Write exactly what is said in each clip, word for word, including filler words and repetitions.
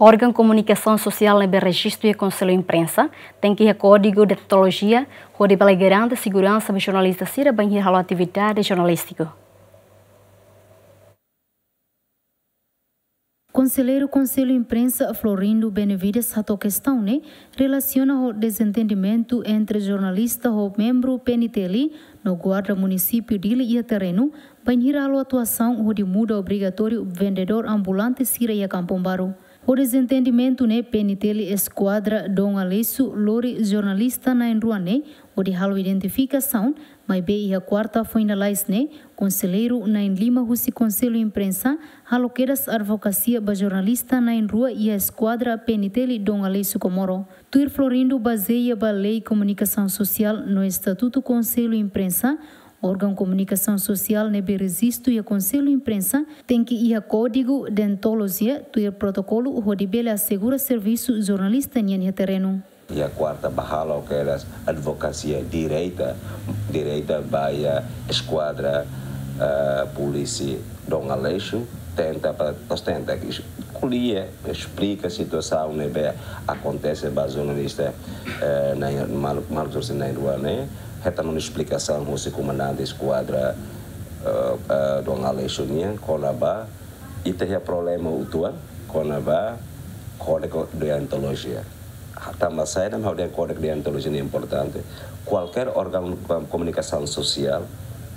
Órgaun komunikasaun sosiál ne'ebé rejistu iha Konsellu Imprensa tenke iha kódigu deontolojia hodi bele garante seguransa ba jornalista sira bainhira halo atividade jornalístiku. Konselleiru Konsellu Imprensa Florindo Benevides hato'o kestaun ne'e relasiona ho dezentendimentu entre jornalista ho membru P N T L no guarda munisípiu Dili iha terrenu, bainhira halo atuasaun hodi muda obrigatóriu vendedór ambulante sira iha Kampung Baru. Ho dezentendimentu ne'e P N T L eskuadra Dom Aleixo lori jornalista na'in-rua ne'e hodi halo identifikasaun, maibé iha kuarta foin lalais ne'e, konselleiru na'in-lima husi Konsellu Imprensa halo kedas advokasia ba jornalista na'in-rua iha eskuadra P N T L Dom Aleixo Comoro. Tuir Florindo, bazeia ba lei komunikasaun sosiál no estatutu Konsellu Imprensa, órgaun komunikasaun sosiál ne'ebé rejistu iha Konsellu Imprensa tenke iha kódigu deontolojia tuir protokolu hodi bele asegura servisu jornalista nian iha terrenu. Iha kuarta bá halo kedas advokasia direta, direta ba iha eskuadra, eh, polísia Dom Aleixo, tenta para, nós tenta es-, ko'alia, esplika situasaun ne'ebé akontese ba jornalista, eh, na'in, maluk, maluk jornalista na'in-rua ne'e, hetan ona esplikasaun husi komandante eskuadra, eh, eh, Dom Aleixo nian, kona-ba ita iha problema uitoan, kona-ba kódigu deontolojia. Tanba saida mak ha'u dehan kódigu deontolojia ne'e importante? Kualkér órgaun komunikasaun sosiál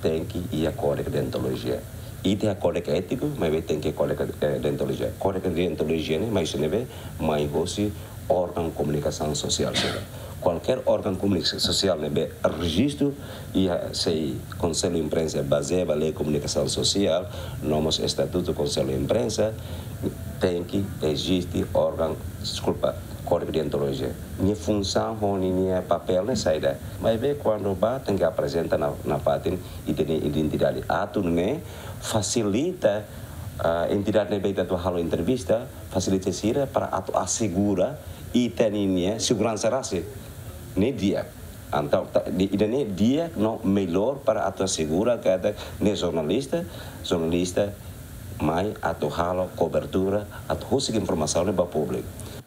tenke iha kódigu deontolojia. Ita iha kódigu étiku, maibé tenke kódigu, eh, deontolojia. Kódigu deontolojia ne'e mai husi ne'ebé? Mai husi órgaun komunikasaun sosiál sira. Kualkér órgaun komunikasaun sosiál ne'ebé rejistu iha sei Konsellu Imprensa bazeia ba lei komunikasaun sosiál, no mós estatutu Konsellu Imprensa, tenke eziste órgaun, deskulpa, kódigu deontolojia. Nia funsaun ho ninia papél ne'e saida? Maibé kuandu bá tenke aprezenta nafatin ita-nia identidade. Atu nune'e fasilita, ah, entidade ne'ebé ita atu halo entrevista, fasilita sira para atu asegura ita-nia seguransa rasik. Ne'e di'ak. Entaun, ta-, di-, ida-ne'e di'ak no mellór para atu asegura katak ne'e jornalista, jornalista mai atu halo kobertura, atu husik informasaun ne'e ba públiku.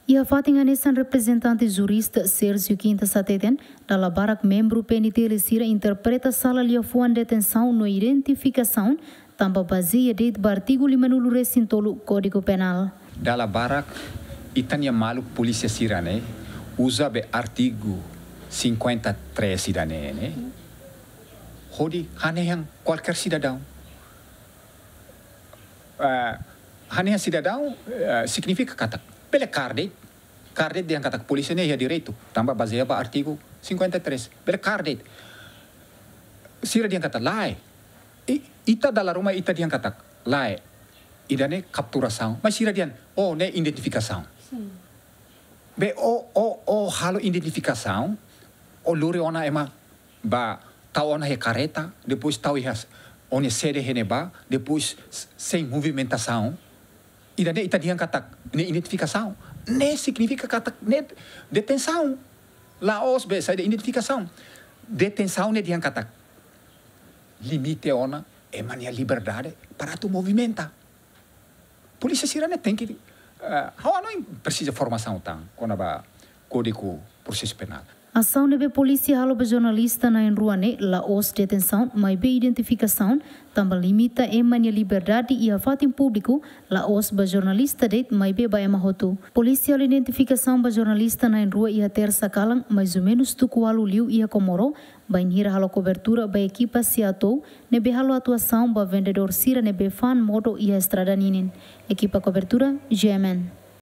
Iha fatin hanesan, reprezentante jurista Sérgio Quintas hateten, dala barak membru P N T L sira interpreta sala liafuan detensaun no identifikasaun, tanba bazeia de'it ba artigu limanulu-resin-tolu Kódigu Penál. Dala barak ita-nia maluk polísia sira-ne'e uza be artigu cinquenta e três ida-ne'e ne'e hodi hanehan kualkér sidadaun. Eh, hanehan sidadaun, eh, signifika katak bele kaer de'it, kaer de'it dehan katak polísia ne'e iha direitu, tanba bazeia ba artigu cinquenta e três. Bele kaer de'it. Sira dehan katak lae. I, ita dala ruma ita dehan katak lae. Ida-ne'e kapturasaun. Mas sira dehan, oh, ne'e identifikasaun. Sin. Be ó, ó, ó halo identifikasaun, ó lori ona ema bá tau ona iha karreta, depois tau iha s-, ó-nia sede iha ne'ebá, depois s-, sein movimentasaun. Ida-ne'e ita dehan katak ne'e identifikasaun. Ne'e signifika katak ne'e detensaun. La'ós be saida identifikasaun. Detensaun ne'e dehan katak limite ona ema-nia liberdade para atu movimenta. Polísia sira-ne'e tenke, eh, ha'u hanoin presiza formasaun tan kona-ba Kódigu Prosesu Penál. Asaun ne'ebé polísia halo ba jornalista na'in-rua ne'e la'ós detensaun, maibé identifikasaun, tanba limita ema nia liberdade iha fatin públiku, la'ós ba jornalista de'it, maibé ba ema hotu. Polísia halo identifikasaun ba jornalista na'in-rua iha tersa kalan, mais ou menus tuku ualu liu iha Comoro, bainhira halo kobertura ba ekipa SEATOU ne'ebé halo atuasaun ba vendedór sira ne'ebé fa'an modo iha estrada ninin. Ekipa kobertura, G M N.